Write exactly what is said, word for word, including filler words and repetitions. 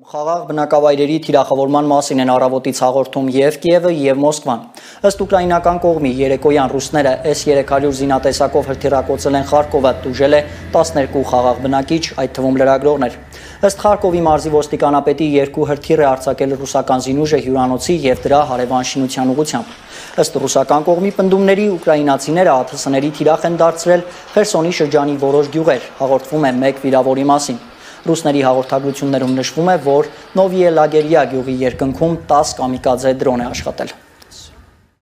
Խաղաղ բնակավայրերի թիրախավորման մասին են առավոտից հաղորդում և Կիևը, և Մոսկվան։ Ըստ ուկրաինական կողմի երեկոյան ռուսները S երեք հարյուր զինատեսակով հրթիռակոծել են Խարկովը, տուժել է տասներկու խաղաղ բնակիչ, այդ թվում լրագրողներ։ Ըստ Խարկովի մարզի ոստիկանապետի երկու հրթիռ է արձակել ռուսական զինուժը հյուրանոցի և դրա հարևան շինության ուղղությամբ։ Ըստ ռուսական կողմի պնդումների ուկրաինացիները ԱԹՍ-ների թիրախ են դարձրել Խերսոնի շրջանի որոշ գյուղեր, հաղորդվում է մեկ վիրավորի մասին։ Ռուսների հաղորդագրություններում նշվում է, որ Նովիե Լագերիա գյուղի երկնքում տասը կամիկաձե դրոն է աշխատել։